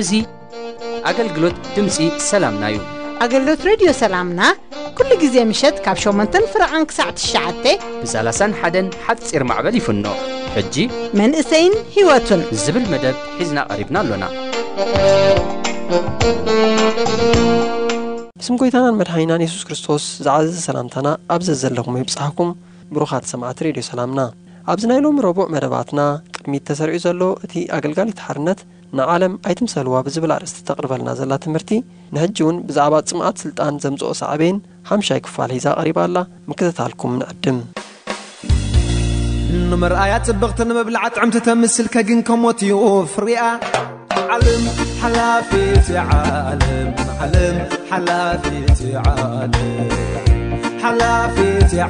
እዚ ኣገልግሎት ድምፂ ሰላምና እዩ። ኣገልግሎት ሬድዮ ሰላምና ኩሉ ግዜ ምሸት ካብ ሸሞንተን ፍረቓን ክሳዕ ትሽዓተ ብሰላሳን ሓደን ሓፂር ማዕበል ይፍኖ። ሕጂ መንእሰይን ህይወቱን ዝብል መደብ ሒዝና ቀሪብና ኣሎና። ብስም ጎይታናን መድሓኒናን የሱስ ክርስቶስ ዝዓዘዘ ሰላምታና ኣብ ዘዘለኹም ይብጻሕኩም። ብሩኻት ሰማዕቲ ሬድዮ ሰላምና፣ ኣብዚ ናይ ሎሚ ረቡዕ መደባትና ቅድሚት ተሰሪዑ ዘሎ እቲ ኣገልጋሊት ሓርነት ንዓለም ኣይትምሰልዋ ብዝብል ኣርእስቲ ተቕርበልና ዘላ ትምህርቲ፣ ንሕጂ እውን ብዛዕባ ጽምኣት ስልጣን ዘምጽኦ ሳዕቤን ሓምሻይ ክፋል ሒዛ ቀሪባ ኣላ። ምክትታልኩም ንዕድም። ንምርኣያ ጽብቕቲ ንምብላዓ ጥዕምቲ ተምስል ከግን ከሞት እዩ ፍርያ። ዓለም ሓላፊት እያ ዓለም፣ ዓለም ሓላፊት እያ ዓለም። ሓላፊት እያ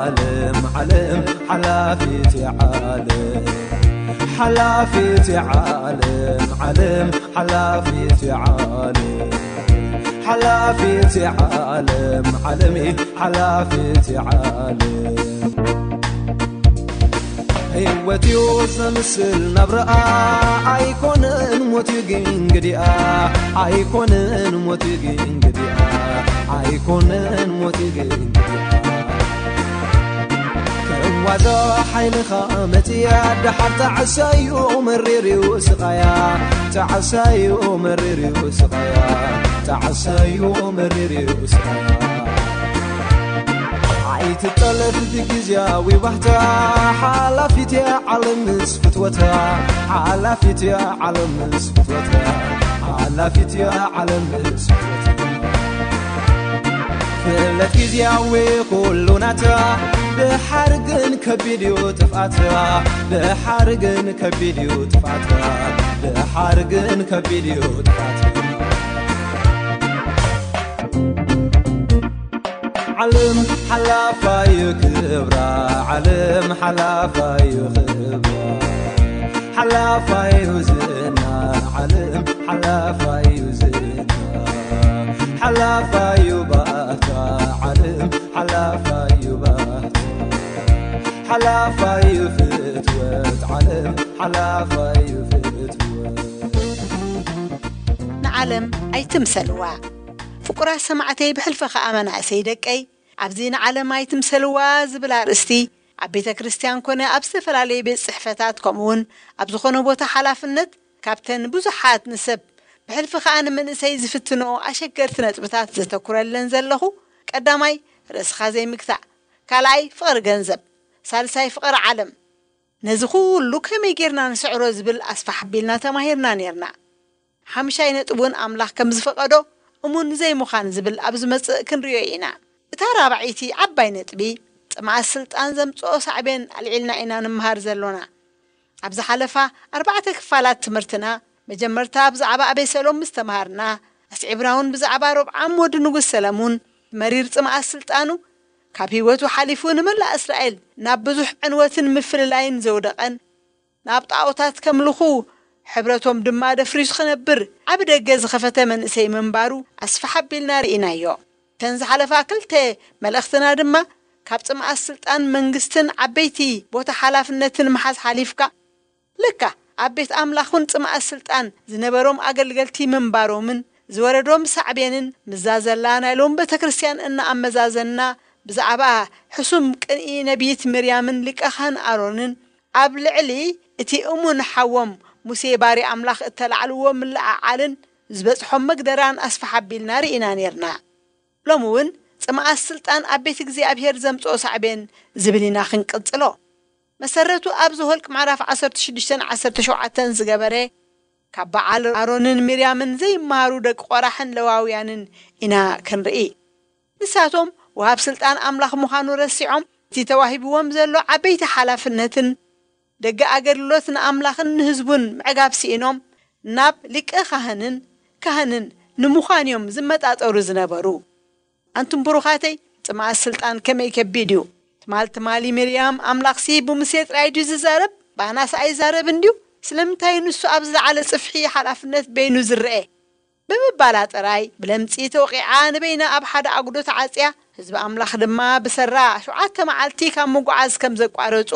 ዓለም፣ ዓለም ሓላፊት እያ ዓለም። ሓላፊት እያ ዓለም፣ ዓለም ሓላፊት እያ ዓለም። ሓላፊት እያ ዓለም፣ ዓለም ሓላፊት እያ ዓለም። ህይወት እዩ ዘምስል ናብረኣ፣ ኣይኮነን ሞት እዩ ግን ግዲኣ፣ ኣይኮነን ሞት እዩ ግን ግዲኣ፣ ኣይኮነን ሞት እዩ ግን ግዲኣ። ክዋዛ ሓይልኻ መጽያ፣ ደሓር ጣዕሳዩ መሪር እዩ ስቓያ፣ ጣዕሳዩ መሪር እዩ ስቓያ፣ ጣዕሳዩ መሪር እዩ ስቓያ። ኣይትጠለፍ ብግዝያዊ ባህታ፣ ሓላፊት እያ ዓለም ምስ ፍትወታ፣ ሓላፊት እያ ዓለም ምስ ፍትወታ፣ ሓላፊት እያ ዓለም ምስ ፍትወታ። ፍለት ግዝያዊ ኩሉ ናታ፣ ድሓር ግን ከቢድ እዩ ጥፍኣታ፣ ድሓር ግን ከቢድ እዩ ጥፍኣታ፣ ድሓር ግን ከቢድ እዩ ጥፍኣታ። ዓለም ሓላፋዩ ክብራ፣ ዓለም ሓላፋዩ ክብራ፣ ሓላፋዩ ዝና፣ ዓለም ሓላፋዩ ዝና፣ ሓላፋዩ ባታ፣ ዓለም ሓላፋዩ ባታ፣ ሓላፋዩ ፍትወት፣ ዓለም ሓላፋዩ ፍትወት። ንዓለም ኣይትምሰልዋ። ፍቁራት ሰማዕተይ፣ ብሕልፊ ኸኣ መናእሰይ ደቀይ፣ ኣብዚ ንዓለም ኣይትምሰልዋ ዝብል ኣርእስቲ ኣብ ቤተ ክርስቲያን ኮነ ኣብ ዝተፈላለዩ ቤት ጽሕፈታት፣ ከምኡውን ኣብ ዝኾነ ቦታ ሓላፍነት፣ ካብተን ብዙሓት ንሰብ ብሕልፊ ኸኣ ንመንእሰይ ዝፍትንኦ ኣሸገርቲ ነጥብታት ዘተኩረለን ዘለኹ፣ ቀዳማይ ርእስኻ ዘይምግታእ፣ ካልኣይ ፍቕሪ ገንዘብ፣ ሳልሳይ ፍቕሪ ዓለም። ነዚ ኩሉ ከመይ ጌርና ንስዕሮ ዝብል ኣስፋሕ ኣቢልና ተማሂርና ኔርና። ሓምሻይ ነጥብ እውን ኣምላኽ ከም ዝፈቐዶ እሙን ዘይምዃን ዝብል ኣብ ዝመጽእ ክንርእዮ ኢና። እታ ራብዐይቲ ዓባይ ነጥቢ፣ ጽምኣት ስልጣን ዘምጽኦ ሳዕቤን ኣልዒልና ኢና ንምሃር ዘሎና። ኣብ ዝሓለፋ ኣርባዕተ ክፋላት ትምህርትና፣ መጀመርታ ብዛዕባ ኣቤሰሎም ምስ ተምሃርና፣ ኣስዒብና እውን ብዛዕባ ሮብዓም ወዲ ንጉስ ሰለሙን መሪር ጽምኣት ስልጣኑ፣ ካብ ህይወቱ ሓሊፉ ንመላእ እስራኤል ናብ ብዙሕ ዕንወትን ምፍልላይን ዘውደቐን፣ ናብ ጣኦታት ከምልኹ ሕብረቶም ድማ ደፍሪሱ ክነብር ዓቢ ደገ ዝኸፈተ መንእሰይ ምንባሩ ኣስፍሕ ኣቢልና ርኢናዮ። እተን ዝሓለፋ ክልተ መልእኽትና ድማ ካብ ጽምኣት ስልጣን መንግስትን ዓበይቲ ቦታ ሓላፍነትን ምሓዝ ሓሊፍካ፣ ለካ ኣብ ቤት ኣምላኽ እውን ጽምኣት ስልጣን ዝነበሮም ኣገልገልቲ ምንባሮምን ዝወረዶም ሳዕቤንን ምስዛ ዘላ ናይ ሎም ቤተ ክርስቲያን እናኣመዛዘንና፣ ብዛዕባ ሕሱም ቅንኢ ነቢይት ምርያምን ሊቀ ካህን ኣሮንን ኣብ ልዕሊ እቲ እሙን ሓዎም ሙሴ ባርያ ኣምላኽ እተላዕልዎ ምልዕዓልን ዝበጽሖም መግደራን ኣስፍሕ ኣቢልና ርኢና ኔርና። ሎሚ እውን ጽምኣት ስልጣን ኣብ ቤት እግዚኣብሔር ዘምጽኦ ሳዕቤን ዝብል ኢና ክንቅጽሎ። መሰረቱ ኣብ ዘኍልቅ ምዕራፍ ዓሰርተ ሽዱሽተን ዓሰርተ ሸውዓተን ዝገበረ፣ ካብ በዓል ኣሮንን ሚርያምን ዘይመሃሩ ደቂ ቆራሕን ለዋውያንን ኢና ክንርኢ። ንሳቶም ወሃብ ስልጣን ኣምላኽ ምዃኑ ረሲዖም፣ እቲ ተዋሂብዎም ዘሎ ዓበይቲ ሓላፍነትን ደገ ኣገልግሎት ንኣምላኽን ንህዝቡን ምዕጋብ ስኢኖም፣ ናብ ሊቀ ካህንን ካህንን ንምዃን እዮም ዝመጣጠሩ ዝነበሩ። ኣንቱም ብሩኻተይ፣ ጽምኣት ስልጣን ከመይ ከቢድ እዩ! ትማል ትማሊ ሚርያም፣ ኣምላኽሲ ብሙሴ ጥራይ ድዩ ዝዛረብ? ባናስ ኣይዛረብ እንድዩ? ስለምንታይ ንሱ ኣብ ዝለዓለ ጽፍሒ ሓላፍነት በይኑ ዝረኤ? ብምባላ ጥራይ ብለምጺ ተወቒዓ ንበይና ኣብ ሓደ ኣጉዶ ተዓጽያ። ህዝቢ ኣምላኽ ድማ ብሰራ ሸውዓተ መዓልቲ ካብ ምጉዓዝ ከም ዘቋረጹ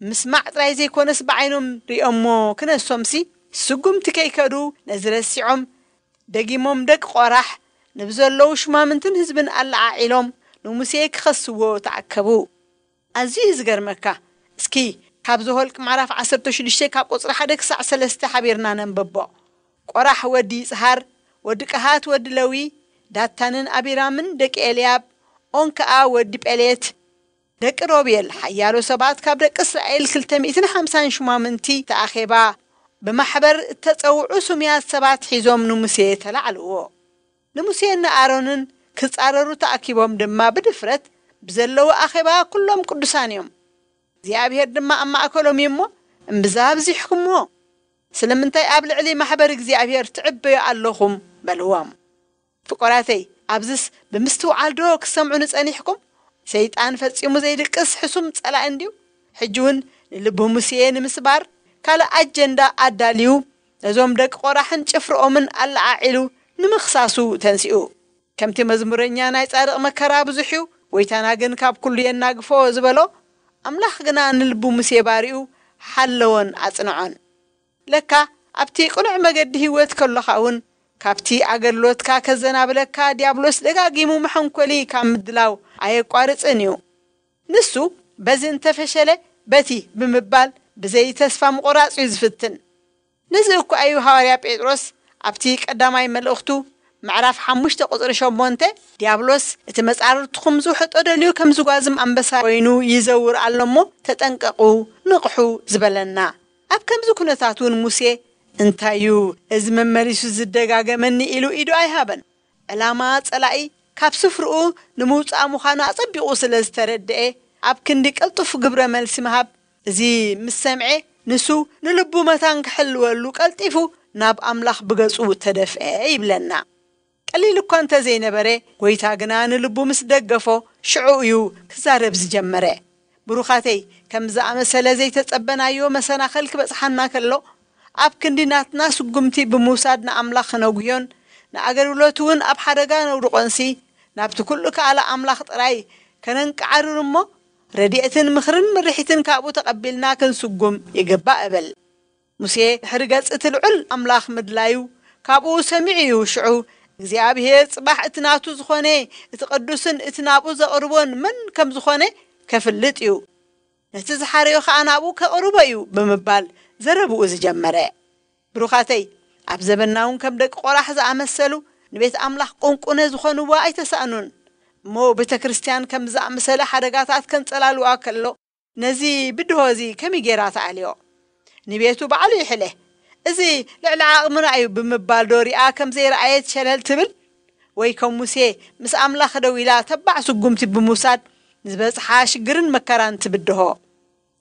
ምስማዕ ጥራይ ዘይኮነስ ብዓይኖም ሪኦሞ ክነሶምሲ ስጉምቲ ከይከዱ ነዚ ረሲዖም ደጊሞም ደቂ ቆራሕ ንብዘለዉ ሽማምንትን ህዝብን ኣለዓዒሎም ንሙሴ ክኸስዎ ተኣከቡ። ኣዝዩ እዩ ዝገርመካ። እስኪ ካብ ዘኍልቅ ምዕራፍ ዓሰርተ ሽዱሽተ ካብ ቁጽሪ ሓደ ክሳዕ ሰለስተ ሓቢርና ነንብቦ። ቆራሕ ወዲ ይጽሃር፣ ወዲ ቀሃት ወዲ ለዊ፣ ዳታንን ኣቢራምን ደቂ ኤልያብ፣ ኦን ከኣ ወዲ ጴሌት። ደቂ ሮቤል ሓያሎ ሰባት ካብ ደቂ እስራኤል ክልተ ሚእትን ሓምሳን ሽማምንቲ ተኣኼባ ብማሕበር እተጸውዑ ስሙያት ሰባት ሒዞም ንሙሴ ተላዕልዎ። ንሙሴን ንኣሮንን ክጻረሩ ተኣኪቦም ድማ ብድፍረት ብዘለዉ ኣኼባ ኩሎም ቅዱሳን እዮም። እግዚኣብሔር ድማ ኣብ ማእከሎም እዩ እሞ፣ እምብዛ ኣብዚሕኩምዎ፣ ስለምንታይ ኣብ ልዕሊ ማሕበር እግዚኣብሔር ትዕበዩ ኣለኹም? በልዎም። ፍቁራተይ፣ ኣብዝስ ብምስትውዓል ዶ ክትሰምዑ ንጸኒሕኩም? ሰይጣን ፈጺሙ ዘይድቅስ ሕሱም ጸላኢ እንድዩ። ሕጂ እውን ንልቢ ሙሴ ንምስባር ካልእ ኣጀንዳ ኣዳልዩ ነዞም ደቂ ቆራሕን ጭፍርኦምን ኣለዓዒሉ ንምኽሳሱ ተንሲኡ። ከምቲ መዝሙረኛ ናይ ጻድቕ መከራ ብዙሕ እዩ፣ ጎይታና ግን ካብ ኩሉ የናግፎ ዝበሎ፣ ኣምላኽ ግና ንልቢ ሙሴ ባሪኡ ሓለዎን ኣጽንዖን። ለካ ኣብቲ ቅኑዕ መገዲ ህይወት ከሎኻ እውን ካብቲ ኣገልግሎትካ ከዘናብለካ ዲያብሎስ ደጋጊሙ መሐንኮሊ ካብ ምድላው ኣየቋርጽን እዩ። ንሱ በዚ እንተፈሸለ በቲ ብምባል ብዘይ ተስፋ ምቑራጽ እዩ ዝፍትን። ነዚ እኳ እዩ ሃዋርያ ጴጥሮስ ኣብቲ ቀዳማይ መልእኽቱ ምዕራፍ ሓሙሽተ ቁጽሪ ሸሞንተ፣ ዲያብሎስ እቲ መጻርርትኹም ዝውሕጦ ደልዩ ከም ዝጓዝም ኣንበሳ ኮይኑ ይዘውር ኣሎ እሞ ተጠንቀቑ፣ ንቕሑ ዝበለና። ኣብ ከምዚ ኩነታት እውን ሙሴ እንታይ እዩ እዚ መመሊሱ ዝደጋገመኒ ኢሉ ኢዱ ኣይሃበን። ዕላማ ጸላኢ ካብ ስፍርኡ ንምውጻእ ምዃኑ ኣጸቢቑ ስለ ዝተረድኤ ኣብ ክንዲ ቅልጡፍ ግብረ መልሲ ምሃብ እዚ ምስ ሰምዔ ንሱ ንልቡ መታን ክሕልወሉ ቀልጢፉ ናብ ኣምላኽ ብገጹ ተደፍኤ ይብለና። ቀሊል እኳ እንተ ዘይነበረ፣ ጎይታ ግና ንልቡ ምስ ደገፎ ሽዑ እዩ ክዛረብ ዝጀመረ። ብሩኻተይ፣ ከም ዝኣመሰለ ዘይተጸበናዮ መሰናኸል ክበጽሓና ከሎ፣ ኣብ ክንዲ ናትና ስጉምቲ ብምውሳድ ንኣምላኽ ክነጉዮን ንኣገልግሎት እውን ኣብ ሓደጋ ነውድቖንሲ፣ ናብቲ ኩሉ ከኣለ ኣምላኽ ጥራይ ከነንቀዓርር እሞ፣ ረድኤትን ምኽርን ምርሒትን ካብኡ ተቐቢልና ክንስጉም ይግባእ እብል። ሙሴ ድሕሪ ገጽ እቲ ልዑል ኣምላኽ ምድላዩ ካብኡ ሰሚዑ እዩ። ሽዑ እግዚኣብሔር ጽባሕ እቲ ናቱ ዝኾነ እቲ ቅዱስን እቲ ናብኡ ዘቕርቦን መን ከም ዝኾነ ከፍልጥ እዩ። ነቲ ዝሓረዮ ኸኣ ናብኡ ከቕርቦ እዩ ብምባል ዘረብኡ ዝጀመረ። ብሩኻተይ፣ ኣብ ዘበንና እውን ከም ደቂ ቆራሕ ዝኣመሰሉ ንቤት ኣምላኽ ቁንቁነ ዝኾንዋ ኣይተሳእኑን። እሞ ቤተ ክርስቲያን ከም ዝኣመሰለ ሓደጋታት ከንጸላልዋ ከሎ ነዚ ብድሆ እዚ ከመይ ጌራ ትኣልዮ? ንቤቱ ባዕሉ ይሕለ። እዚ ልዕሊ ዓቕምና እዩ ብምባል ዶ ሪኣ ከም ዘይረኣየት ሸለል ትብል? ወይ ከም ሙሴ ምስ ኣምላኽ ደው ኢላ ተባዕ ስጉምቲ ብምውሳድ ንዝበጽሓ ሽግርን መከራን ትብድሆ?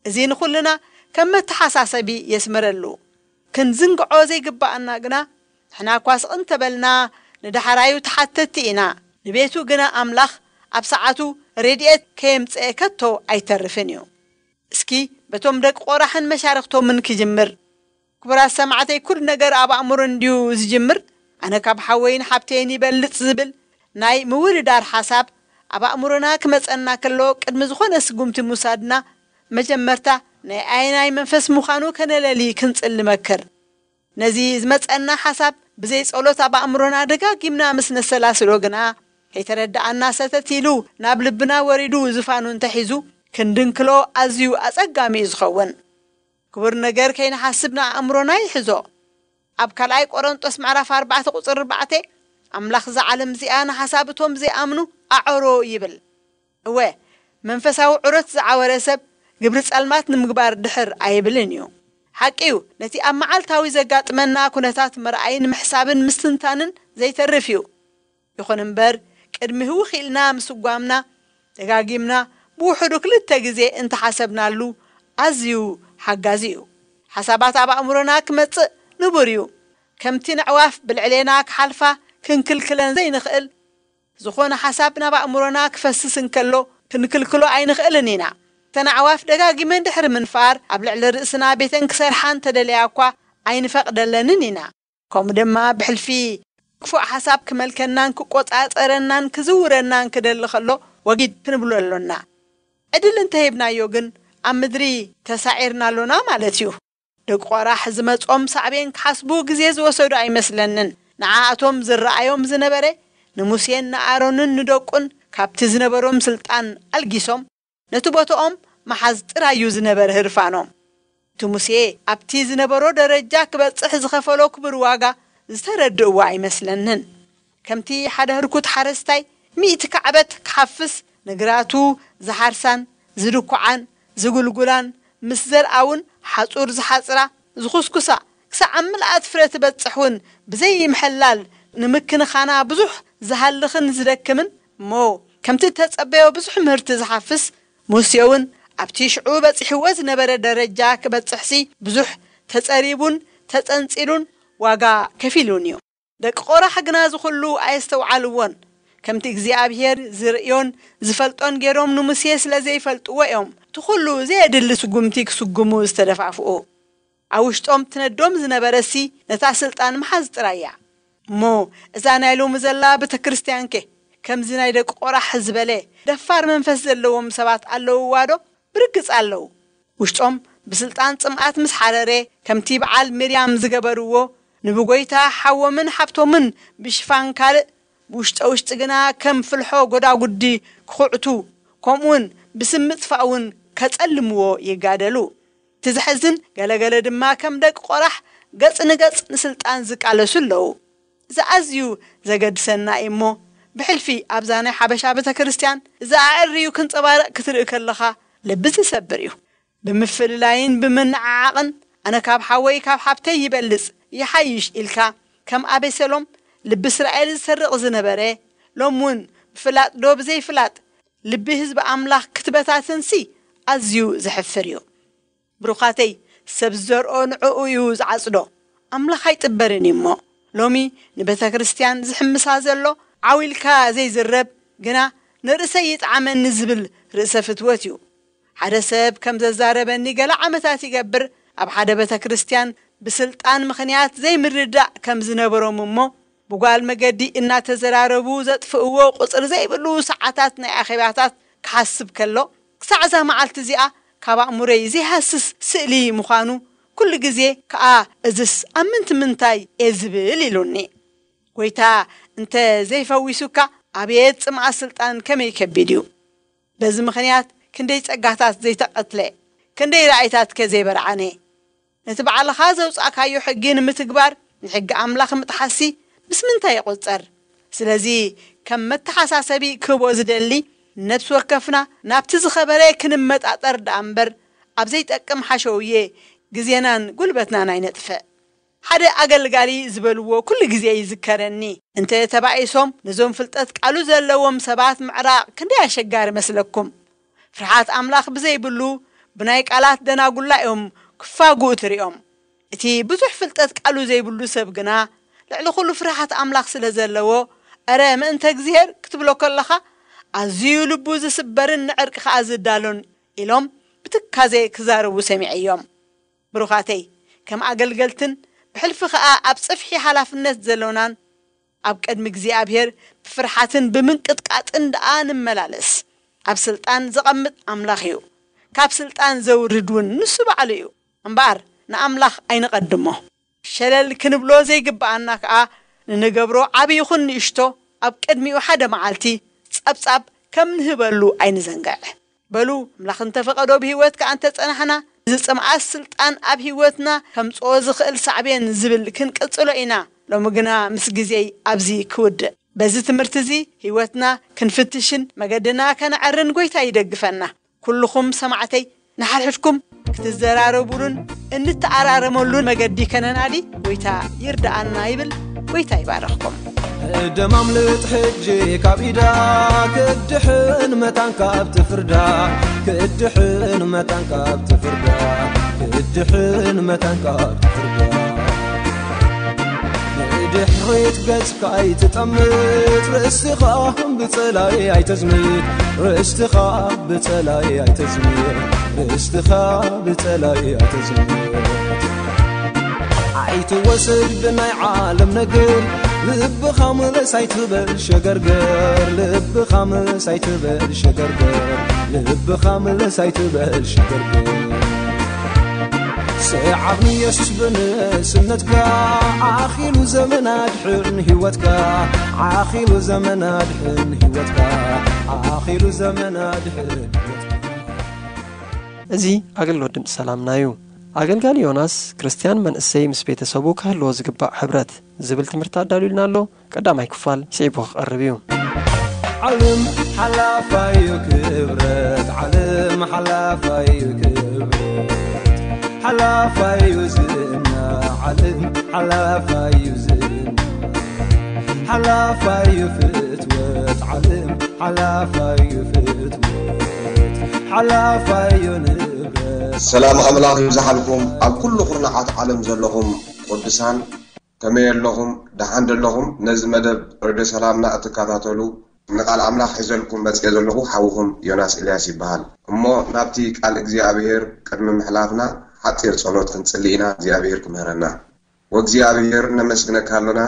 እዚ ንኹልና ከም መተሓሳሰቢ የስምረሉ። ክንዝንግዖ ዘይግባኣና ግና ንሕና እኳ ስቕ እንተበልና ንዳሕራዩ ተሓተትቲ ኢና። ንቤቱ ግና ኣምላኽ ኣብ ሰዓቱ ረድኤት ከየምጽአ ከቶ ኣይተርፍን እዩ። እስኪ በቶም ደቂ ቆራሕን መሻርኽቶምን ክጅምር። ክቡራት ሰማዕተይ፣ ኩሉ ነገር ኣብ ኣእምሮ እንድዩ ዝጅምር። ኣነ ካብ ሓወይን ሓብተይን ይበልጽ ዝብል ናይ ምውድዳር ሓሳብ ኣብ ኣእምሮና ክመጸና ከሎ ቅድሚ ዝኾነ ስጉምቲ ምውሳድና መጀመርታ ናይ ኣየናይ መንፈስ ምዃኑ ከነለሊ ክንጽል ንመክር። ነዚ ዝመጸና ሓሳብ ብዘይ ጸሎት ኣብ ኣእምሮና ደጋጊምና ምስ ነሰላስሎ ግና ከይተረድኣና ሰተት ኢሉ ናብ ልብና ወሪዱ ዝፋኑ እንተሒዙ ክንድንክሎ ኣዝዩ ኣጸጋሚ እዩ ዝኸውን። ክቡር ነገር ከይንሓስብ ንኣእምሮና ይሕዞ። ኣብ ካልኣይ ቆሮንጦስ ምዕራፍ ኣርባዕተ ቁጽሪ ኣርባዕተ ኣምላኽ እዛ ዓለም እዚኣ ንሓሳብ እቶም ዘይኣምኑ ኣዐሮ ይብል። እወ፣ መንፈሳዊ ዑረት ዝዓወረ ሰብ ግብሪ ጸልማት ንምግባር ድሕር ኣይብልን እዩ። ሓቂ እዩ፣ ነቲ ኣብ መዓልታዊ ዘጋጥመና ኩነታት ምርኣይን ምሕሳብን ምስትንታንን ዘይተርፍ እዩ። ይኹን እምበር ቅድሚ ህውኽ ኢልና ምስጓምና ደጋጊምና ብውሕዱ ክልተ ግዜ እንተሓሰብናሉ ኣዝዩ ሓጋዚ እዩ። ሓሳባት ኣብ ኣእምሮና ክመጽእ ንቡር እዩ። ከምቲ ነዕዋፍ ብልዕሌና ክሓልፋ ክንክልክለን ዘይንኽእል ዝኾነ ሓሳብ ናብ ኣእምሮና ክፈስስ እንከሎ ክንክልክሎ ኣይንኽእልን ኢና። እተን ኣዕዋፍ ደጋጊመን ድሕሪ ምንፋር ኣብ ልዕሊ ርእስና ቤተን ክሰርሓ እንተደለያ እኳ ኣይንፈቕደለንን ኢና። ከምኡ ድማ ብሕልፊ ክፉእ ሓሳብ ክመልከናን ክቆጻጸረናን ክዝውረናን ክደሊ ከሎ ወጊድ ክንብሎ ኣሎና። ዕድል እንተሂብናዮ ግን ኣብ ምድሪ ተሳዒርና ኣሎና ማለት እዩ። ደቂ ቆራሕ ዝመጾም ሳዕቤን ክሓስቡ ግዜ ዝወሰዱ ኣይመስለንን። ንዓኣቶም ዝረኣዮም ዝነበረ ንሙሴን ንኣሮንን ንደቁን ካብቲ ዝነበሮም ስልጣን ኣልጊሶም ነቲ ቦታኦም መሓዝ ጥራይ እዩ ዝነበረ ህርፋኖም። እቲ ሙሴ ኣብቲ ዝነበሮ ደረጃ ክበጽሕ ዝኸፈሎ ክቡር ዋጋ ዝተረድእዎ ኣይመስለንን። ከምቲ ሓደ ህርኩት ሓረስታይ ሚእቲ ካዕበት ክሓፍስ ንግራቱ ዝሓርሳን ዝድኩዓን ዝጉልጉላን ምስ ዘርኣውን ሓጹር ዝሓጽራ ዝኹስኩሳ ክሳዕ ኣብ ምልኣት ፍረ ትበጽሕ እውን ብዘይምሕላል ንምክንኻና ብዙሕ ዝሃልኽን ዝደክምን እሞ ከምቲ እተጸበዮ ብዙሕ ምህርቲ ዝሓፍስ ሙሴ እውን ኣብቲ ሽዑ በጺሕዎ ዝነበረ ደረጃ ክበጽሕሲ ብዙሕ ተጸሪቡን ተጸንጺሉን ዋጋ ከፊሉን እዩ። ደቂ ቆራሕ ግና እዚ ኩሉ ኣየስተውዓልዎን። ከምቲ እግዚኣብሔር ዝርእዮን ዝፈልጦን ገይሮም ንሙሴ ስለ ዘይፈልጥዎ እዮም እቲ ኩሉ ዘየድሊ ስጉምቲ ክስጉሙ ዝተደፋፍኡ። ኣብ ውሽጦም ትነዶም ዝነበረሲ ነታ ስልጣን ምሓዝ ጥራይ እያ። እሞ እዛ ናይ ሎሚ ዘላ ቤተ ክርስቲያንከ ከምዚ ናይ ደቂ ቆራሕ ዝበለ ደፋር መንፈስ ዘለዎም ሰባት ኣለውዋ ዶ? ብርግጽ ኣለዉ። ውሽጦም ብስልጣን ጽምኣት ምስ ሓረረ ከምቲ በዓል ሚርያም ዝገበርዎ ንብጎይታ ሓዎምን ሓብቶምን ብሽፋን ካልእ ብውሽጠ ውሽጢ ግና ከም ፍልሖ ጎዳጉዲ ክኹዕቱ ከምኡውን ብስም ምጥፋእ እውን ከጸልምዎ ይጋደሉ። እቲ ዘሕዝን ገለገለ ድማ ከም ደቂ ቆራሕ ገጽ ንገጽ ንስልጣን ዝቃለሱ ኣለዉ። እዚ ኣዝዩ ዘገድሰና እዩ እሞ ብሕልፊ ኣብዛ ናይ ሓበሻ ቤተ ክርስቲያን እዚ ኣዕርዩ ክንጸባረቕ ክትርኢ ከለኻ ልቢ ዝሰብር እዩ። ብምፍልላይን ብምንዓዓቕን ኣነ ካብ ሓወይ ካብ ሓብተይ ይበልጽ ይሓይሽ ኢልካ ከም ኣቤሴሎም ልቢ እስራኤል ዝሰርቕ ዝነበረ ሎም እውን ብፍላጥ ዶ ብዘይፍላጥ ልቢ ህዝቢ ኣምላኽ ክትበታትንሲ ኣዝዩ ዘሕፍር እዩ። ብሩኻተይ ሰብ ዝዘርኦ ንዕኡ እዩ ዝዓጽዶ። ኣምላኽ ኣይጥበርን እዩ እሞ ሎሚ ንቤተ ክርስቲያን ዝሕምሳ ዘሎ ዓው ኢልካ ዘይዝረብ ግና ንርእሰይ ይጥዓመኒ ዝብል ርእሰ ፍትወት እዩ። ሓደ ሰብ ከም ዘዛረበኒ ገለ ዓመታት ይገብር ኣብ ሓደ ቤተ ክርስቲያን ብስልጣን ምኽንያት ዘይምርዳእ ከም ዝነበሮም እሞ ብጓል መገዲ እናተዘራረቡ ዘጥፍእዎ ቁፅሪ ዘይብሉ ሰዓታት ናይ ኣኼባታት ክሓስብ ከሎ ክሳዕ እዛ መዓልቲ እዚኣ ካብ ኣእምሮይ ዘይሃስስ ስእሊ ምዃኑ ኩሉ ግዜ ከኣ እዝስ ኣብ ምንቲ ምንታይ እየ ዝብል ኢሉኒ። ጎይታ እንተ ዘይፈዊሱካ ኣቤት ጽምኣ ስልጣን ከመይ ከቢድ እዩ። በዚ ምኽንያት ክንደይ ጸጋታት ዘይተቐትለ፣ ክንደይ ራእይታትከ ዘይበርዓነ። ነቲ ባዕልኻ ዘውጻእካዮ ሕጊ ንምትግባር ንሕጊ ኣምላኽ ምጥሓሲ ምስ ምንታይ ይቑጸር? ስለዚ ከም መተሓሳሰቢ ክህቦ ዝደሊ ነፍሲ ወከፍና ናብቲ ዝኸበረ ክንመጣጠር ደኣ እምበር ኣብ ዘይጠቅም ሓሸውየ ግዜናን ጉልበትናን ኣይነጥፍእ። ሓደ ኣገልጋሊ ዝበልዎ ኩሉ ግዜ ይዝከረኒ። እንተ ተባኢሶም ነዞም ፍልጠት ቃሉ ዘለዎም ሰባት ምዕራቕ ክንደይ ኣሸጋሪ መስለኩም? ፍርሓት ኣምላኽ ብዘይብሉ ብናይ ቃላት ደናጉላ እዮም ክፋግኡ ትሪኦም። እቲ ብዙሕ ፍልጠት ቃሉ ዘይብሉ ሰብ ግና ልዕሊ ኩሉ ፍርሓት ኣምላኽ ስለ ዘለዎ፣ እረ ምእንተ እግዚኣብሔር ክትብሎ ከለኻ ኣዝዩ ልቡ ዝስበርን ንዕርቂ ከኣ ዝዳሎን ኢሎም ብትካዜ ክዛረቡ ሰሚዐዮም። ብሩኻተይ፣ ከም ኣገልገልትን ብሕልፊ ከኣ ኣብ ጽፍሒ ሓላፍነት ዘሎናን ኣብ ቅድሚ እግዚኣብሔር ብፍርሓትን ብምንቅጥቃጥን ደኣ ንመላለስ። ኣብ ስልጣን ዘቐምጥ ኣምላኽ እዩ። ካብ ስልጣን ዘውርድ እውን ንሱ ባዕሉ እዩ። እምበኣር ንኣምላኽ ኣይንቐድሞ። ሸለል ክንብሎ ዘይግብኣና ከኣ ንንገብሮ ዓቢ ይኹን ንእሽቶ ኣብ ቅድሚኡ ሓደ መዓልቲ ጸብጻብ ከም ንህበሉ ኣይንዘንግዕ። በሉ ኣምላኽ እንተፈቐዶ ብህይወት ከኣ እንተጸናሕና እዚ ጽምኣት ስልጣን ኣብ ህይወትና ከምጽኦ ዝኽእል ሳዕቤን ዝብል ክንቅጽሎ ኢና። ሎሚ ግና ምስ ግዜይ ኣብዚ ክውድእ። በዚ ትምህርቲ እዚ ህይወትና ክንፍትሽን መገድና ከነዐርን ጎይታ ይደግፈና። ኩልኹም ሰማዕተይ ንሓድሕድኩም ክትዘራረቡሉን እንተኣራረመሉን መገዲ ከነናዲ ጎይታ ይርዳኣና ይብል። ጎይታ ይባርኽኩም። ደማምልጥ ሕጂ ካብ ኢዳ ክድሕን መታን ካብ ትፍርዳ ክድሕን መታን ካብ ትፍርዳ ክድሕን መታን ካብ ትፍርዳ ንድሕሪት ገጽካ ኣይትጠምት ርእስኻ ብጸላይ ኣይተዝምት ርስትኻ ብጸላይ ኣይተዝምር፣ ርስትኻ ብጸላይ ኣይተዝምር። ኣይትወሰድ ብናይ ዓለም ነገር፣ ልብኻ ምለስ ኣይትበል ሸገርገር፣ ልብኻ ምለስ ኣይትበል ሸገርገር፣ ልብኻ ምለስ ኣይትበል ሸገርገር። ሰዓብ ንየሱስ ብንእስነትካ፣ ዓኺሉ ዘመን ኣድሕን ህይወትካ፣ ዓኺሉ ዘመን ኣድሕን ህይወትካ፣ ዓኺሉ ዘመን ኣድሕን ህይወትካ። እዚ ኣገልግሎት ድምፂ ሰላምና እዩ። ኣገልጋሊ ዮናስ፣ ክርስትያን መንእሰይ ምስ ቤተሰቡ ክህልዎ ዝግባእ ሕብረት ዝብል ትምህርቲ ኣዳልዩልና ኣሎ። ቀዳማይ ክፋል ስዒቡ ክቐርብ እዩ። ዓለም ሓላፋዩ ክብረት፣ ዓለም ሓላፋዩ ክብረት፣ ሓላፋዩ ዝና፣ ዓለም ሓላፋዩ ዝና፣ ሓላፋዩ ፍትወት፣ ዓለም ሓላፋዩ ፍትወት፣ ሓላፋዩ ንብረት። ሰላም ኣምላኽ ይብዝሓልኩም ኣብ ኩሉ ኩርናዓት ዓለም ዘለኹም ቅዱሳን። ከመይ ኣለኹም? ደሓን ደለኹም? ነዚ መደብ ሬድዮ ሰላምና እትከታተሉ ንቃል ኣምላኽ ሒዘልኩም መጽየ ዘለኹ ሓውኹም ዮናስ ኤልያስ ይበሃል። እሞ ናብቲ ቃል እግዚኣብሔር ቅድሚ ምሕላፍና ሓጺር ጸሎት ክንጽሊ ኢና እግዚኣብሔር ክምህረና። ወእግዚኣብሔር ነመስግነካ ኣሎና፣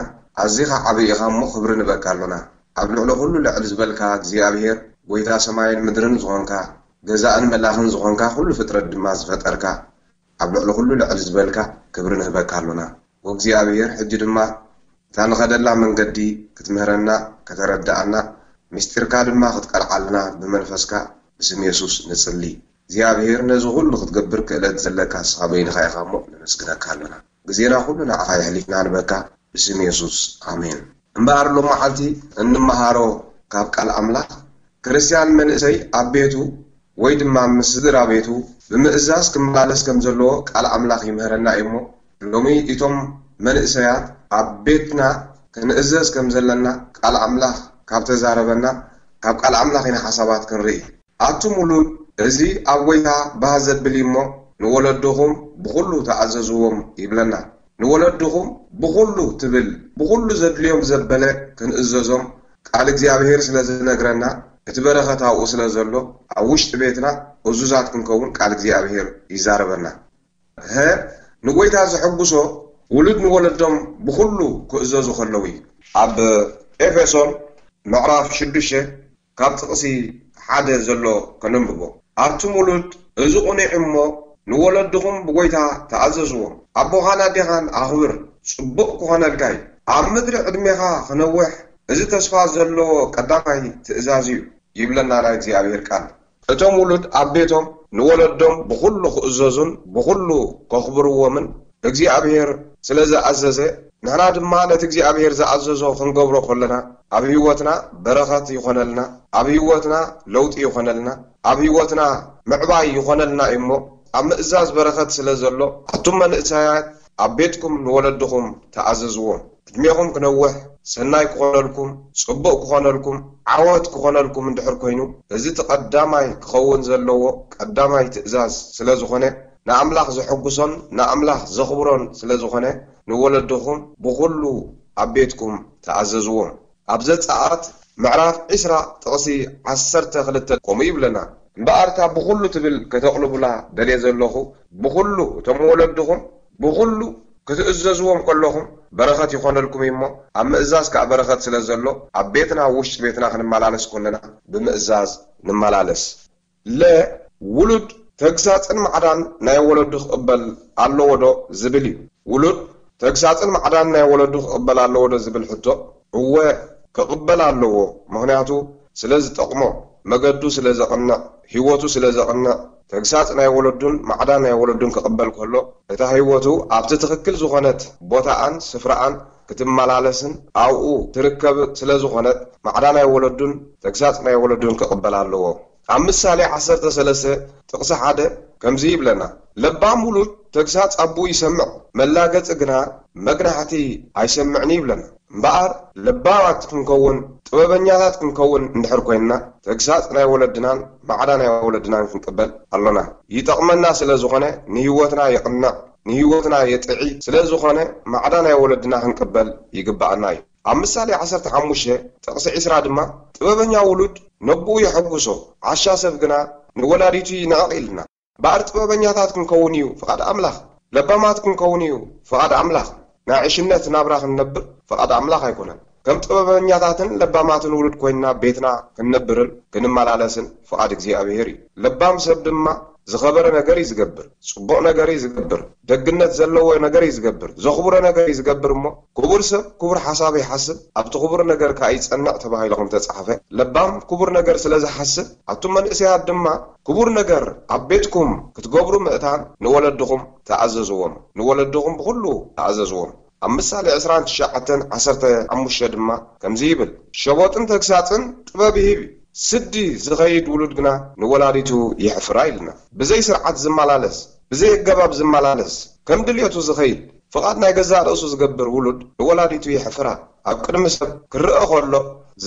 ኣዚኻ ዓቢ ኢኻ እሞ ክብሪ ንበካ ኣሎና። ኣብ ልዕሊ ኩሉ ልዕል ዝበልካ እግዚኣብሔር ጎይታ ሰማይን ምድርን ዝኾንካ፣ ገዛእን መላኽን ዝኾንካ፣ ኩሉ ፍጥረት ድማ ዝፈጠርካ፣ ኣብ ልዕሊ ኩሉ ልዕል ዝበልካ ክብሪ ንህበካ ኣሎና። ወእግዚኣብሔር ሕጂ ድማ እታ ንኸደላ መንገዲ ክትምህረና፣ ከተረድኣና፣ ምስጢርካ ድማ ክትቀልዓልና ብመንፈስካ ብስም የሱስ ንጽሊ። እግዚኣብሔር ነዚ ኩሉ ክትገብር ክእለት ዘለካ ንስኻ በይንኻ ኢኻ እሞ ነመስግነካ ኣሎና። ግዜና ኩሉ ንዓኻ የሕሊፍና ንበካ ብስም የሱስ ኣሜን። እምበኣር ሎም መዓልቲ እንመሃሮ ካብ ቃል ኣምላኽ ክርስትያን መንእሰይ ኣብ ቤቱ ወይ ድማ ምስ ስድራ ቤቱ ብምእዛዝ ክመላለስ ከም ዘለዎ ቃል ኣምላኽ ይምህረና እዩ እሞ፣ ሎሚ እቶም መንእሰያት ኣብ ቤትና ክንእዘዝ ከም ዘለና ቃል ኣምላኽ ካብ ተዛረበና፣ ካብ ቃል ኣምላኽ ኢና ሓሳባት ክንርኢ። ኣቱም ውሉድ፣ እዚ ኣብ ጐይታ ባህ ዘብል እዩ እሞ፣ ንወለድኹም ብኹሉ ተኣዘዝዎም ይብለና። ንወለድኹም ብኹሉ ትብል፣ ብኹሉ ዘድልዮም ዘበለ ክንእዘዞም ቃል እግዚኣብሔር ስለ ዝነግረና፣ እቲ በረኸት ኣብኡ ስለ ዘሎ፣ ኣብ ውሽጢ ቤትና እዙዛት ክንከውን ቃል እግዚኣብሔር ይዛረበና። ሀ፣ ንጎይታ ዘሐጉሶ ውሉድ ንወለዶም ብኹሉ ክእዘዙ ከለዉ እዩ። ኣብ ኤፌሶን ምዕራፍ ሽዱሽተ ካብ ጥቕሲ ሓደ ዘሎ ከነንብቦ። ኣቱም ውሉድ፣ እዚ ቁኑዕ እሞ፣ ንወለድኹም ብጎይታ ተኣዘዝዎም። ኣቦኻን ኣዴኻን ኣኽብር፣ ጽቡቕ ክኾነልካ እዩ። ኣብ ምድሪ ዕድሜኻ ክነውሕ፣ እዚ ተስፋ ዘለዎ ቀዳማይ ትእዛዝ እዩ፣ ይብለና ናይ እግዚኣብሔር ቃል። እቶም ውሉድ ኣብ ቤቶም ንወለዶም ብኹሉ ክእዘዙን ብኹሉ ከኽብርዎምን እግዚኣብሔር ስለ ዝኣዘዘ፣ ንሕና ድማ ነቲ እግዚኣብሔር ዝኣዘዞ ክንገብሮ ከለና፣ ኣብ ህይወትና በረኸት ይኾነልና፣ ኣብ ህይወትና ለውጢ ይኾነልና፣ ኣብ ህይወትና ምዕባይ ይኾነልና እዩ እሞ፣ ኣብ ምእዛዝ በረኸት ስለ ዘሎ፣ ኣቱም መንእሰያት ኣብ ቤትኩም ንወለድኹም ተኣዘዝዎም። ዕድሜኹም ክነውሕ፣ ሰናይ ክኾነልኩም፣ ጽቡቕ ክኾነልኩም፣ ዓወት ክኾነልኩም እንድሕር ኮይኑ፣ እዚ እቲ ቀዳማይ ክኸውን ዘለዎ ቀዳማይ ትእዛዝ ስለ ዝኾነ፣ ንኣምላኽ ዘሐጉሶን ንኣምላኽ ዘኽብሮን ስለ ዝኾነ፣ ንወለድኹም ብኹሉ ኣብ ቤትኩም ተኣዘዝዎም። ኣብ ዘጸኣት ምዕራፍ ዕስራ ጥቕሲ ዓሰርተ ክልተ ከምኡ ይብለና። እምበኣር እታ ብኹሉ ትብል ከተቕልቡላ ደልየ ዘለኹ፣ ብኹሉ እቶም ወለድኹም ብኹሉ ክትእዘዝዎም ከለኹም በረኸት ይኾነልኩም እዩ እሞ፣ ኣብ ምእዛዝ ከኣ በረኸት ስለ ዘሎ፣ ኣብ ቤትና ኣብ ውሽጢ ቤትና ክንመላለስ ከለና ብምእዛዝ ንመላለስ። ለ፣ ውሉድ ተግሳጽን ማዕዳን ናይ ወለዱ ክቕበል ኣለዎ ዶ ዝብል እዩ። ውሉድ ተግሳጽን ማዕዳን ናይ ወለዱ ክቕበል ኣለዎ ዶ ዝብል ሕቶ፣ እወ ክቕበል ኣለዎ። ምኽንያቱ ስለ ዝጠቕሞ፣ መገዱ ስለ ዘቕንዕ፣ ህይወቱ ስለ ዘቕንዕ፣ ተግሳጽ ናይ ወለዱን ማዕዳ ናይ ወለዱን ክቕበል ከሎ፣ እታ ህይወቱ ኣብቲ ትኽክል ዝኾነት ቦታኣን ስፍራኣን ክትመላለስን ኣብኡ ትርከብ ስለ ዝኾነት፣ ማዕዳ ናይ ወለዱን ተግሳጽ ናይ ወለዱን ክቕበል ኣለዎ። ኣብ ምሳሌ ዓሰርተ ሰለስተ ጥቕሲ ሓደ ከምዚ ይብለና፣ ለባም ውሉድ ተግሳጽ ኣቦኡ ይሰምዕ፣ መላገጺ ግና መግናሕቲ ኣይሰምዕን ይብለና። እምበኣር ለባማት ክንከውን፣ ጥበበኛታት ክንከውን እንድሕር ኮይንና፣ ተግሳጽ ናይ ወለድናን ማዕዳ ናይ ወለድናን ክንቅበል ኣሎና። ይጠቕመና ስለ ዝኾነ፣ ንህይወትና የቕንዕ፣ ንህይወትና የጥዒ ስለ ዝኾነ፣ ማዕዳ ናይ ወለድና ክንቅበል ይግብኣና እዩ። ኣብ ምሳሌ ዓሰርተ ሓሙሽተ ጥቕሲ ዕስራ ድማ፣ ጥበበኛ ውሉድ ነቦኡ የሐጉሶ። ዓሻ ሰብ ግና ንወላዲቱ ይንዕቕ ኢልና። እምበኣር ጥበበኛታት ክንከውን እዩ ፍቓድ ኣምላኽ፣ ለባማት ክንከውን እዩ ፍቓድ ኣምላኽ። ናይ ዕሽነት ናብራ ክንነብር ፍቓድ ኣምላኽ ኣይኮነን። ከም ጥበበኛታትን ለባማትን ውሉድ ኮይንና ቤትና ክንነብርን ክንመላለስን ፍቓድ እግዚኣብሔር እዩ። ለባም ሰብ ድማ ዝኸበረ ነገር እዩ ዝገብር፣ ጽቡቕ ነገር እዩ ዝገብር፣ ደግነት ዘለዎ ነገር እዩ ዝገብር፣ ዘኽብሮ ነገር እዩ ዝገብር። እሞ ክቡር ሰብ ክቡር ሓሳብ ይሓስብ፣ ኣብቲ ክቡር ነገር ከኣ ይጸንዕ ተባሂሉ ከም ተጻሕፈ፣ ለባም ክቡር ነገር ስለ ዝሓስብ፣ ኣቱም መንእሰያት ድማ ክቡር ነገር ኣብ ቤትኩም ክትገብሩ ምእታን ንወለድኹም ተኣዘዝዎም፣ ንወለድኹም ብኹሉ ተኣዘዝዎም። ኣብ ምሳሌ ዕስራን ትሽዓተን ዓሰርተ ሓሙሽተ ድማ ከምዚ ይብል፣ ሸቦጥን ተግሳጽን ጥበብ ይህብ እዩ፣ ስዲ ዝኸይድ ውሉድ ግና ንወላዲቱ የሕፍራ ኢልና። ብዘይ ስርዓት ዝመላለስ፣ ብዘይ ኣገባብ ዝመላለስ፣ ከም ድልየቱ ዝኸይድ፣ ፍቓድ ናይ ገዛእ ርእሱ ዝገብር ውሉድ ንወላዲቱ የሕፍራ። ኣብ ቅድሚ ሰብ ክረኣ ከሎ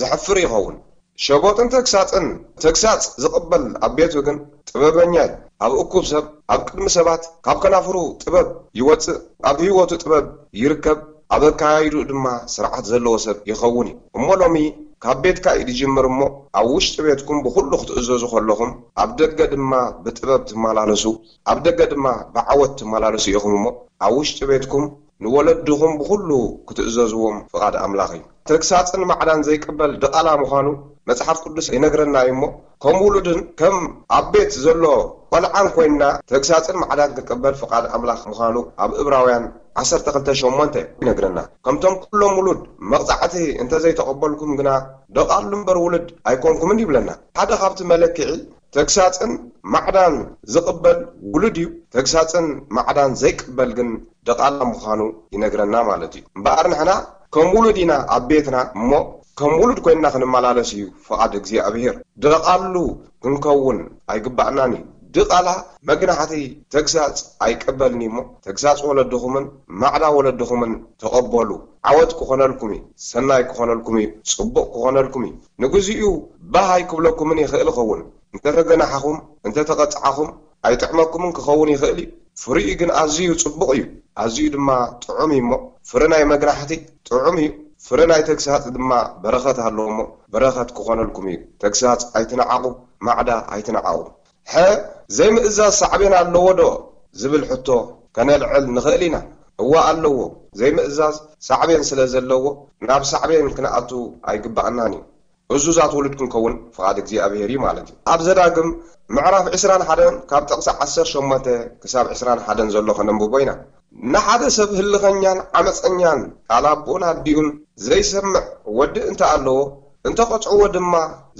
ዘሕፍር ይኸውን። ሸቦጥን ተግሳጽን፣ ተግሳጽ ዝቕበል ኣብ ቤቱ ግን ጥበበኛ እዩ። ኣብ እኩብ ሰብ፣ ኣብ ቅድሚ ሰባት ካብ ከናፍሩ ጥበብ ይወጽእ፣ ኣብ ህይወቱ ጥበብ ይርከብ፣ ኣብ ኣካያይድኡ ድማ ስርዓት ዘለዎ ሰብ ይኸውን እዩ። እሞ ሎሚ ካብ ቤትካ እዩ ዝጅምር። እሞ ኣብ ውሽጢ ቤትኩም ብኹሉ ክትእዘዙ ከለኹም፣ ኣብ ደገ ድማ ብጥበብ ትመላለሱ፣ ኣብ ደገ ድማ ብዓወት ትመላለሱ ኢኹም። እሞ ኣብ ውሽጢ ቤትኩም ንወለድኹም ብኹሉ ክትእዘዝዎም ፍቓድ ኣምላኽ እዩ። ተግሳጽን ማዕዳን ዘይቅበል ድቓላ ምዃኑ መጽሓፍ ቅዱስ ይነግረና እዩ። እሞ ከም ውሉድን ከም ኣብ ቤት ዘሎ ቆልዓን ኮይንና ተግሳጽን ማዕዳን ክንቅበል ፍቓድ ኣምላኽ ምዃኑ ኣብ እብራውያን ዓሰርተ ክልተ ሸሞንተ ይነግረና። ከምቶም ኩሎም ውሉድ መቕጻዕቲ እንተዘይተቐበልኩም ግና ደቓሉ እምበር ውሉድ ኣይኮንኩምን ይብለና። ሓደ ካብቲ መለክዒ ተግሳጽን ማዕዳን ዝቕበል ውሉድ እዩ። ተግሳጽን ማዕዳን ዘይቅበል ግን ደቓላ ምዃኑ ይነግረና ማለት እዩ። እምበኣር ንሕና ከም ውሉድ ኢና ኣብ ቤትና፣ እሞ ከም ውሉድ ኮይንና ክንመላለስ እዩ ፍቓድ እግዚኣብሔር። ደቓሉ ክንከውን ኣይግባእናን እዩ። ድቓላ መግናሕቲ ተግሳጽ ኣይቀበልን እዩ። እሞ ተግሳጽ ወለድኹምን ማዕዳ ወለድኹምን ተቐበሉ። ዓወት ክኾነልኩም እዩ፣ ሰናይ ክኾነልኩም እዩ፣ ጽቡቕ ክኾነልኩም እዩ። ንግዚኡ ባህ ኣይክብለኩምን ይኽእል ይኸውን። እንተተገናሕኹም፣ እንተተቐጻዕኹም ኣይጥዕመኩምን ክኸውን ይኽእል እዩ። ፍሪኡ ግን ኣዝዩ ጽቡቕ እዩ፣ ኣዝዩ ድማ ጥዑም እዩ። እሞ ፍረ ናይ መግናሕቲ ጥዑም እዩ፣ ፍረ ናይ ተግሳጽ ድማ በረኸት ኣለዎ። እሞ በረኸት ክኾነልኩም እዩ። ተግሳጽ ኣይትንዓቑ፣ ማዕዳ ኣይትንዓቑ። ሕዚ ዘይምእዛዝ ሳዕቤን ኣለዎ ዶ ዝብል ሕቶ ከነልዕል ንኽእል ኢና። እወ ኣለዎ። ዘይምእዛዝ ሳዕቤን ስለ ዘለዎ ናብ ሳዕቤን ክንኣቱ ኣይግባኣናን እዩ። እዙዛት ውሉድ ክንከውን ፍቓድ እግዚኣብሔር እዩ ማለት እዩ። ኣብ ዘዳግም ምዕራፍ ዕስራን ሓደን ካብ ጥቕሲ ዓሰርተ ሸሞንተ ክሳብ ዕስራን ሓደን ዘሎ ከነንብቦ ኢና። ንሓደ ሰብ ህልኸኛን ዓመፀኛን ቃል ኣቦኡን ኣዲኡን ዘይሰምዕ ወዲ እንተ ኣለዎ፣ እንተ ቐጽዕዎ ድማ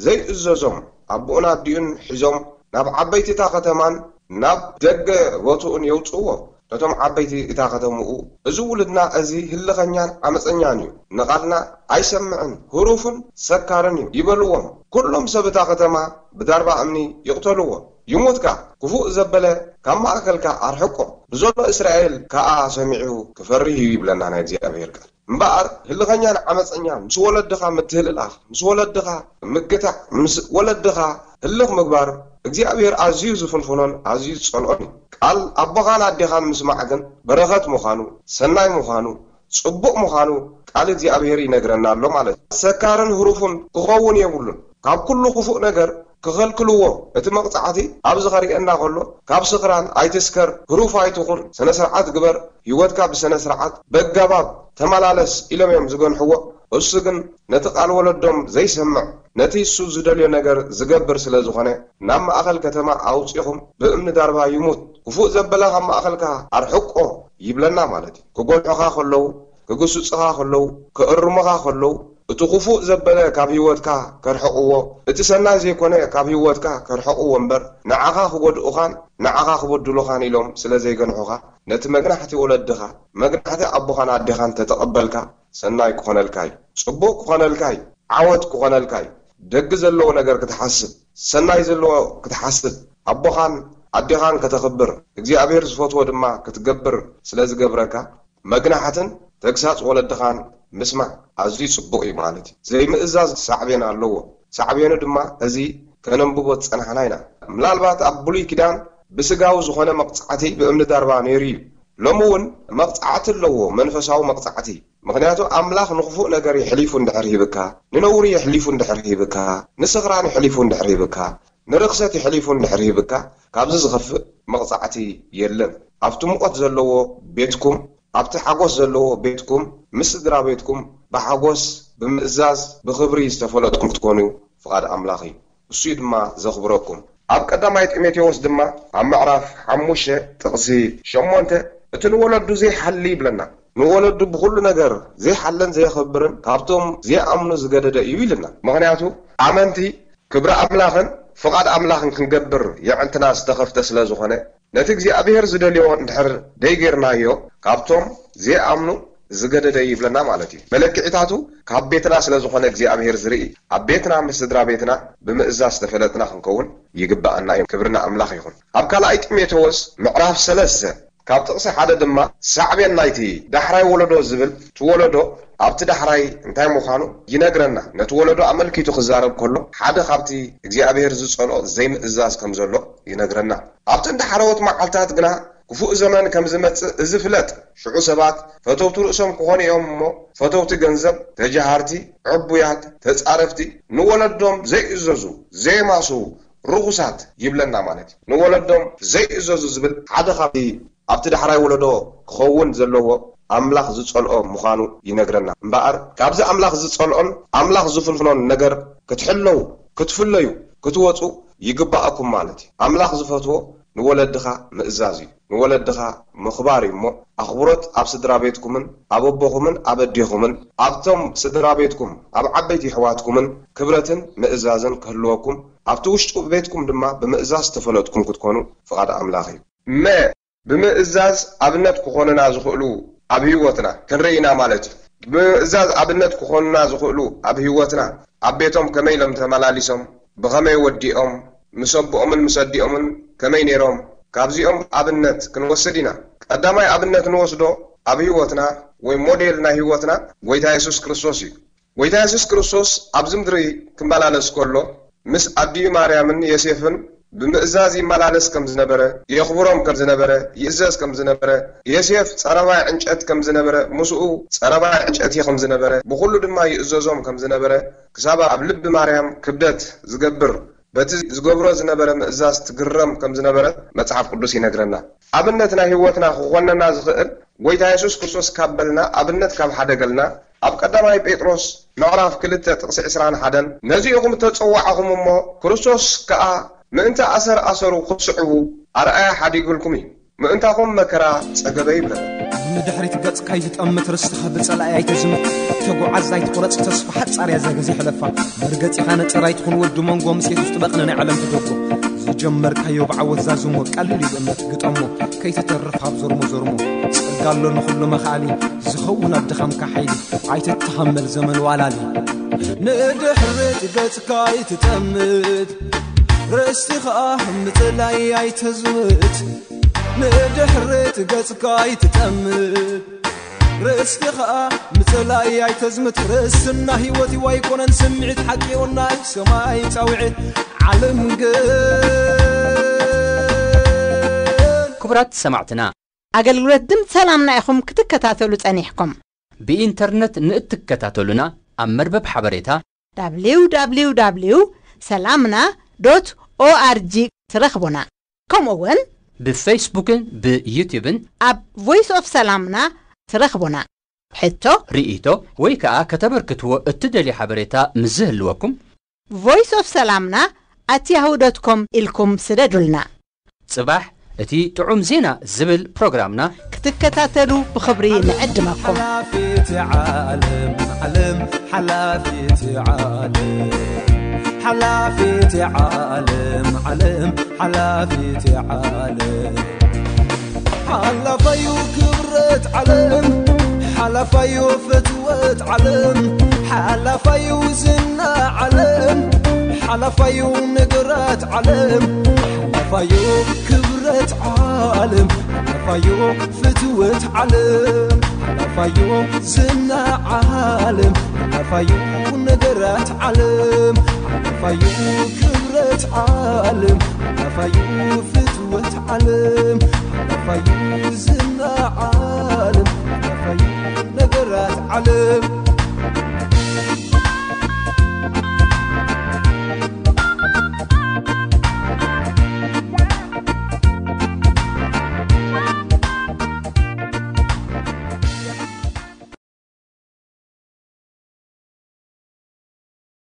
ዘይእዘዞም ኣቦኡን ኣዲኡን ሒዞም ናብ ዓበይቲ እታ ከተማን ናብ ደገ ቦትኡን የውጽእዎ። ነቶም ዓበይቲ እታ ከተምኡ፣ "እዚ ውሉድና እዚ ህልኸኛን ዓመጸኛን እዩ፣ ንቓልና ኣይሰምዕን፣ ህሩፍን ሰካርን እዩ" ይበልዎም። ኩሎም ሰብ እታ ከተማ ብዳርባ እምኒ ይቕተልዎ። ይሙት ከኣ፣ ክፉእ ዘበለ ካብ ማእከልካ ኣርሕቆ፣ ብዘሎ እስራኤል ከኣ ሰሚዑ ክፈርህ እዩ ይብለና ናይ እግዚኣብሔር ቃል። እምበኣር ህልኸኛን ዓመጸኛን ምስ ወለድኻ ምትህልላኽ፣ ምስ ወለድኻ ምግታዕ፣ ምስ ወለድኻ ህልኽ ምግባር እግዚኣብሔር ኣዝዩ ዝፍንፍኖን ኣዝዩ ዝጸልኦን እዩ። ቃል ኣቦኻን ኣዴኻን ምስማዕ ግን በረኸት ምዃኑ፣ ሰናይ ምዃኑ፣ ጽቡቕ ምዃኑ ቃል እግዚኣብሔር ይነግረና ኣሎ ማለት እዩ። ሰካርን ህሩፍን ክኸውን የብሉን። ካብ ኩሉ ክፉእ ነገር ክኸልክልዎ፣ እቲ መቕጻዕቲ ኣብዚ ኸርእየና ከሎ፣ ካብ ስኽራን ኣይትስከር፣ ህሩፍ ኣይትኹን፣ ስነ ስርዓት ግበር፣ ህይወትካ ብስነ ስርዓት በገባብ ተመላለስ ኢሎም እዮም ዝገንሕዎ። እሱ ግን ነቲ ቃል ወለዶም ዘይሰምዕ፣ ነቲ እሱ ዝደልዮ ነገር ዝገብር ስለ ዝኾነ፣ ናብ ማእኸል ከተማ ኣውጺኹም ብእምኒ ዳርባ ይሙት፣ ክፉእ ዘበለ ካብ ማእኸልካ ኣርሕቆ ይብለና ማለት እዩ። ክጎድሑኻ ከለዉ፣ ክግስጹኻ ከለዉ፣ ክእርሙኻ ከለዉ፣ እቲ ክፉእ ዘበለ ካብ ህይወትካ ከርሕቕዎ፣ እቲ ሰናይ ዘይኮነ ካብ ህይወትካ ከርሕቕዎ እምበር፣ ንዓኻ ክጎድኡኻን ንዓኻ ክበድሉኻን ኢሎም ስለ ዘይገንሑኻ፣ ነቲ መግናሕቲ ወለድኻ፣ መግናሕቲ ኣቦኻን ኣዴኻን ተተቐበልካ፣ ሰናይ ክኾነልካ እዩ። ጽቡቕ ክኾነልካ እዩ። ዓወት ክኾነልካ እዩ። ደጊ ዘለዎ ነገር ክትሓስብ፣ ሰናይ ዘለዎ ክትሓስብ፣ ኣቦኻን ኣዴኻን ከተኽብር፣ እግዚኣብሔር ዝፈትዎ ድማ ክትገብር ስለ ዝገብረካ፣ መግናሕትን ተግሳጽ ወለድኻን ምስማዕ ኣዝዩ ጽቡቕ እዩ ማለት እዩ። ዘይምእዛዝ ሳዕቤን ኣለዎ። ሳዕቤኑ ድማ እዚ ከነንብቦ ዝጸናሕና ኢና። ምናልባት ኣብ ብሉይ ኪዳን ብስጋዊ ዝኾነ መቕጻዕቲ ብእምኒ ዳርባ ነይሩ እዩ። ሎሚ እውን መቕጻዕቲ ኣለዎ፣ መንፈሳዊ መቕጻዕቲ። ምኽንያቱ ኣምላኽ ንኽፉእ ነገር የሕሊፉ እንድሕር ሂብካ፣ ንነውሪ የሕሊፉ እንድሕር ሂብካ፣ ንስኽራን የሕሊፉ እንድሕር ሂብካ፣ ንርኽሰት የሕሊፉ እንድሕር ሂብካ፣ ካብዚ ዝኸፍእ መቕጻዕቲ የለን። ኣብቲ ሙቐት ዘለዎ ቤትኩም፣ ኣብቲ ሓጎስ ዘለዎ ቤትኩም፣ ምስ ስድራ ቤትኩም ብሓጎስ፣ ብምእዛዝ፣ ብኽብሪ ዝተፈለጥኩም ክትኮኑ ፍቓድ ኣምላኽ እዩ። እሱ እዩ ድማ ዘኽብረኩም። ኣብ ቀዳማይ ጢሞቴዎስ ድማ ኣብ ምዕራፍ ሓሙሽተ ጥቕሲ ሸሞንተ፣ እቲ ንወለዱ ዘይሓሊ ይብለና። ንወለዱ ብኹሉ ነገር ዘይሓለን ዘየኽብርን ካብቶም ዘይኣምኑ ዝገደደ እዩ ኢልና። ምኽንያቱ ኣመንቲ ክብሪ ኣምላኽን ፍቓድ ኣምላኽን ክንገብር የዕንትና ዝተኸፍተ ስለ ዝኾነ፣ ነቲ እግዚኣብሔር ዝደልዮ እንድሕር ደይጌርናዮ፣ ካብቶም ዘይኣምኑ ዝገደደ ይብለና ማለት እዩ። መለክዒታቱ ካብ ቤትና ስለ ዝኾነ እግዚኣብሔር ዝርኢ፣ ኣብ ቤትና ምስ ስድራ ቤትና ብምእዛዝ ዝተፈለጥና ክንከውን ይግብኣና እዩ። ክብሪ ንኣምላኽ ይኹን። ኣብ ካልኣይ ጢሞቴዎስ ምዕራፍ ሰለስተ ካብ ጥቕሲ ሓደ ድማ ሳዕቤን ናይቲ ዳሕራይ ወለዶ ዝብል፣ እቲ ወለዶ ኣብቲ ዳሕራይ እንታይ ምዃኑ ይነግረና። ነቲ ወለዶ ኣመልኪቱ ክዛረብ ከሎ ሓደ ካብቲ እግዚኣብሔር ዝጸልኦ ዘይምእዛዝ ከም ዘሎ ይነግረና። ኣብ ጥንቲ ሓረዎት መዓልታት ግና ክፉእ ዘመን ከም ዝመጽእ እዚ ፍለጥ። ሽዑ ሰባት ፈተውቲ ርእሶም ክኾኑ እዮም እሞ፣ ፈተውቲ ገንዘብ፣ ተጃሃርቲ፣ ዕቡያት፣ ተጻረፍቲ፣ ንወለዶም ዘይእዘዙ፣ ዘየማስዉ፣ ርኹሳት ይብለና ማለት እዩ። ንወለዶም ዘይእዘዙ ዝብል ሓደ ካብቲ ኣብቲ ዳሕራይ ወለዶ ክኸውን ዘለዎ ኣምላኽ ዝጸልኦ ምዃኑ ይነግረና። እምበኣር ካብዚ ኣምላኽ ዝጸልኦን ኣምላኽ ዝፍንፍኖን ነገር ክትሕለዉ፣ ክትፍለዩ፣ ክትወጹ ይግባኣኩም ማለት እዩ። ኣምላኽ ዝፈትዎ ንወለድኻ ምእዛዝ እዩ። ንወለድኻ ምኽባር እዩ እሞ፣ ኣኽብሮት ኣብ ስድራ ቤትኩምን ኣብ ኣቦኹምን ኣብ ኣዴኹምን ኣብቶም ስድራ ቤትኩም ኣብ ዓበይቲ ኣሕዋትኩምን ክብረትን ምእዛዝን ክህልወኩም፣ ኣብቲ ውሽጢ ቤትኩም ድማ ብምእዛዝ ዝተፈለጥኩም ክትኮኑ ፍቓድ ኣምላኽ እዩ። መ፣ ብምእዛዝ ኣብነት ክኾኑና ዝኽእሉ ኣብ ህይወትና ክንርኢ ኢና ማለት እዩ። ብምእዛዝ ኣብነት ክኾኑና ዝኽእሉ ኣብ ህይወትና ኣብ ቤቶም ከመይ ኢሎም ተመላሊሶም፣ ብኸመይ ወዲኦም፣ ምስ ኣቦኦምን ምስ ኣዲኦምን ከመይ ነይሮም፣ ካብዚኦም ኣብነት ክንወስድ ኢና። ቀዳማይ ኣብነት ንወስዶ ኣብ ህይወትና ወይ ሞዴል ናይ ህይወትና ጎይታ የሱስ ክርስቶስ እዩ። ጎይታ የሱስ ክርስቶስ ኣብዚ ምድሪ ክመላለስ ከሎ ምስ ኣዲኡ ማርያምን ዮሴፍን ብምእዛዝ ይመላለስ ከም ዝነበረ፣ የኽብሮም ከም ዝነበረ፣ ይእዘዝ ከም ዝነበረ፣ ዮሴፍ ጸረባይ ዕንጨት ከም ዝነበረ፣ ምስኡ ጸረባይ ዕንጨቲ ከም ዝነበረ፣ ብኹሉ ድማ ይእዘዞም ከም ዝነበረ፣ ክሳብ ኣብ ልቢ ማርያም ክብደት ዝገብር በቲ ዝገብሮ ዝነበረ ምእዛዝ ትግረም ከም ዝነበረት መጽሓፍ ቅዱስ ይነግረና። ኣብነት ናይ ህይወትና ክኾነና ዝኽእል ጎይታ የሱስ ክርስቶስ ካብ በልና፣ ኣብነት ካብ ሓደገልና፣ ኣብ ቀዳማይ ጴጥሮስ ምዕራፍ ክልተ ጥቕሲ ዕስራን ሓደን፣ ነዚ ኢኹም እተጸዋዕኹም እሞ፣ ክርስቶስ ከኣ ምእንቲ ኣሰር ኣሰሩ ክትስዕቡ ኣርኣያ ሓዲጉልኩም እዩ። ምእንታኹም መከራ ጸገበ ይብለና። ንድሕሪት ገጽካ ኣይትጠምት፣ ርስትኻ ብጸላኢ ኣይተዝምት። ተጓዓዝ ኣይትቑረጽ ተስፋ፣ ሓጻር እያ እዛ ግዜ ሕለፋ። መርገጺኻ ነጸር ኣይትኹን፣ ወዲ መንጎ ምስ የሱስ ጥበቕ፣ ንናይ ዓለም ትደጎ። ዝጀመርካዮ ብዓወት ዛዝሞ፣ ቀሊል እዩ ብእምነት ግጠሞ። ከይትተርፍ ኣብ ዞርሞ ዞርሞ፣ ጸጋ ኣሎ ንኹሉ መኽኣሊ። ዝኸውን ኣብ ድኻምካ ሓይሊ፣ ኣይትተሃመል ዘመን ዋላሊ። ንድሕሪት ገጽካ ኣይትጠምት፣ ርእስቲ ኸኣ ምጽላይ ኣይተዝምት። ንድሕሪት ገጽካ ኣይትጠምት፣ ርእስቲ ኸኣ ምጽላይ ኣይተዝምት። ርእስና ህይወት እዩ ኣይኮነን ስምዒት፣ ሓቂ ይኹን ናይ ሰማይ ጻውዒት። ዓለም ግን ክቡራት ሰማዕትና፣ ኣገልግሎት ድምፂ ሰላምና ኢኹም ክትከታተሉ ጸኒሕኩም። ብኢንተርነት ንእትከታተሉና ኣብ መርበብ ሓበሬታ www ሰላምና ዶት ኦኣርጂ ትረኽቡና። ከምኡ እውን ብፌስቡክን ብዩትዩብን ኣብ ቮይስ ኦፍ ሰላምና ትረኽቡና። ሕቶ፣ ርኢቶ ወይ ከኣ ከተበርክትዎ እትደልዩ ሓበሬታ ምስ ዝህልወኩም ቮይስ ኦፍ ሰላምና ኣት ያሁ ዶት ኮም ኢልኩም ስደዱልና። ጽባሕ እቲ ጥዑም ዜና ዝብል ፕሮግራምና ክትከታተሉ ብኽብሪ ንዕድመኩም። ሓላፊት ዓለም፣ ዓለም፣ ሓላፊት ዓለም፣ ሓላፊት ዓለም፣ ዓለም፣ ሓላፊት ዓለም። ሓላፋዩ ክብረት ዓለም፣ ሓላፋዩ ፍትወት ዓለም፣ ሓላፋዩ ዝና ዓለም፣ ሓላፋዩ ነገራት ዓለም፣ ሓላፋዩ ክብረት ዓለም፣ ሓላፋዩ ፍትወት ዓለም፣ ሓላፋዩ ዝና ዓለም፣ ሓላፋዩ ነገራት ዓለም፣ ሓላፋዩ ክብረት ዓለም፣ ሓላፋዩ ፍትወት ዓለም፣ ሓላፋዩ ዝና ዓለም፣ ሓላፋዩ ነገራት